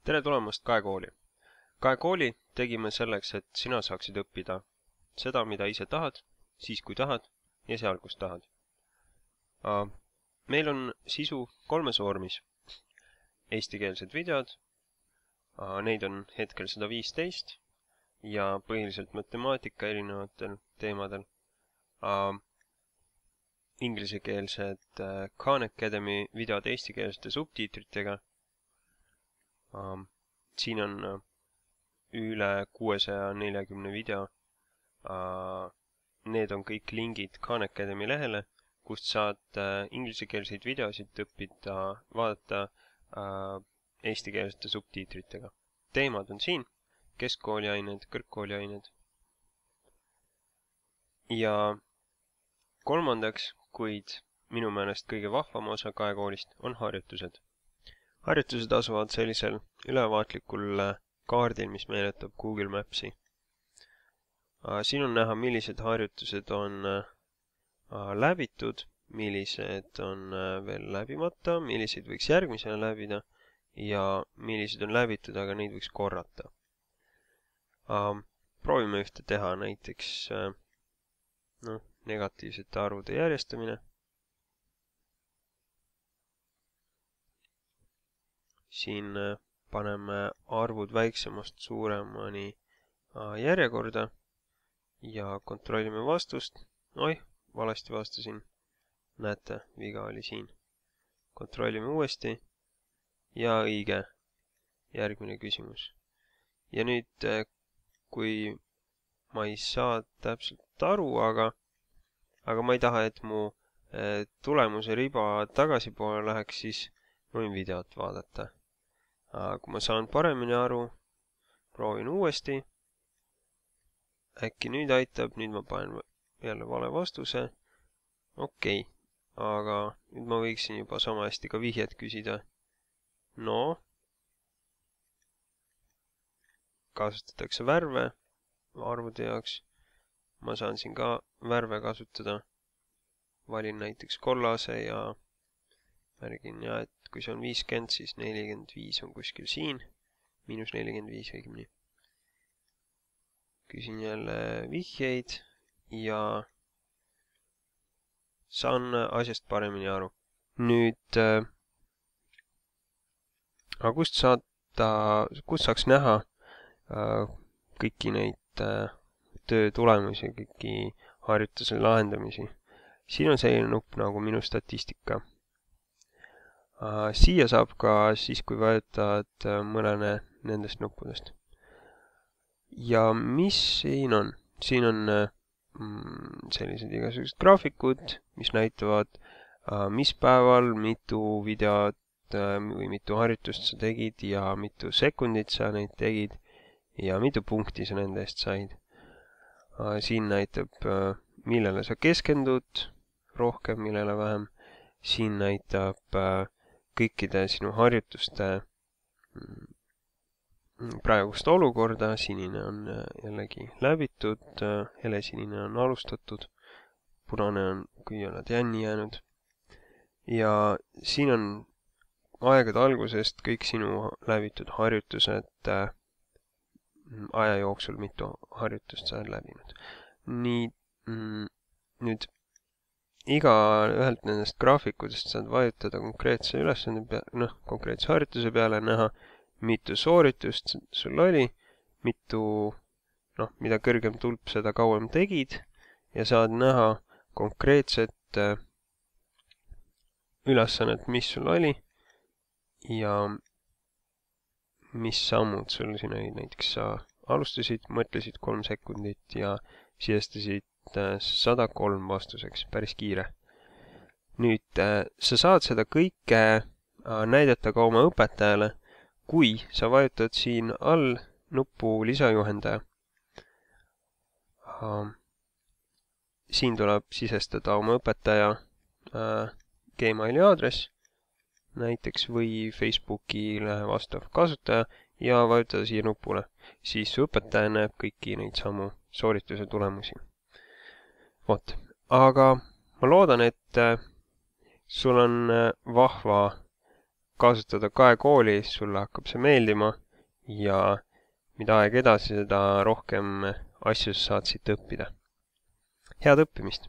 Tere tulemast Kaekooli! Kaekooli tegime selleks, et sina saaksid õppida seda, mida ise tahad, siis kui tahad ja seal, kus tahad. Meil on sisu 3 vormis. Eestikeelsed videod, neid on hetkel 115 ja põhiliselt matemaatika erinevatel teemadel. Inglisekeelsed Khan Academy videod eestikeelsete subtiitritega. Siin on üle 640 video. Need on kõik lingid Khan Academy lehele, kust saad inglisekeelseid videosid õppida, vaadata eestikeelsete subtiitritega. Teemad on siin, keskkooliained, kõrgkooliained. Ja kolmandaks, kuid minu meelest kõige vahvam osa Kaekoolist on harjutused. Harjutused asuvad sellisel ülevaatlikul kaardil, mis meenutab Google Mapsi. Siin on näha, millised harjutused on läbitud, millised on veel läbimata, milliseid võiks järgmisena läbida ja millised on läbitud, aga neid võiks korrata. Proovime ühte teha, näiteks negatiivsete arvude järjestamine. Siin paneme arvud väiksemast suuremani järjekorda ja kontrollime vastust. Oih, valesti vastasin. Näete, viga oli siin. Kontrollime uuesti ja õige. Järgmine küsimus. Ja nüüd, kui ma ei saa täpselt aru, aga ma ei taha, et mu tulemuse riba tagasipoole läheks, siis võin videot vaadata. Kui ma saan paremini aru, proovin uuesti. Äkki nüüd aitab, nüüd ma panen jälle vale vastuse. Okei, aga nüüd ma võiksin juba sama hästi ka vihjet küsida. No, kasutatakse värve arvude jaoks. Ma saan siin ka värve kasutada. Valin näiteks kollase ja märgin, et kui see on 50, siis 45 on kuskil siin. -45 õigemini. Küsin jälle vihjeid ja saan asjast paremini aru. Nüüd, kust saaks näha kõiki neid töö tulemusi, kõiki harjutuse lahendamisi? Siin on selline nupp nagu minu statistika. Siia saab ka siis, kui vajutad mõnele nendest nuppudest. Ja mis siin on? Siin on sellised igasugused graafikud, mis näitavad, mis päeval mitu videot või mitu harjutust sa tegid ja mitu sekundit sa neid tegid ja mitu punkti sa nende eest said. Siin näitab, millele sa keskendud rohkem, millele vähem. Siin näitab kõikide sinu harjutuste praegust olukorda. Sinine on jällegi läbitud, helesinine on alustatud, punane on, kui oled jänni jäänud. Ja siin on aegade algusest kõik sinu läbitud harjutused aja jooksul, mitu harjutust sa oled läbinud. Nii, nüüd iga ühelt nendest graafikutest saad vajutada konkreetse ülesande peale, konkreetse harjutuse peale, näha, mitu sooritust sul oli, mida kõrgem tulp, seda kauem tegid ja saad näha konkreetset ülesannet, mis sul oli ja mis sammud sul siin olid. Näiteks sa alustasid, mõtlesid 3 sekundit ja sisestasid 103 vastuseks, päris kiire. Nüüd, sa saad seda kõike näidata ka oma õpetajale, kui sa vajutad siin all nuppu lisajuhendaja. Siin tuleb sisestada oma õpetaja Gmaili aadress, näiteks või Facebookile vastav kasutaja ja vajutada siia nupule. Siis su õpetaja näeb kõiki neid samu soorituse tulemusi. Vot, aga ma loodan, et sul on vahva kasutada Kaekooli, siis sulle hakkab see meeldima ja mida aeg edasi, seda rohkem asju saad siit õppida. Head õppimist!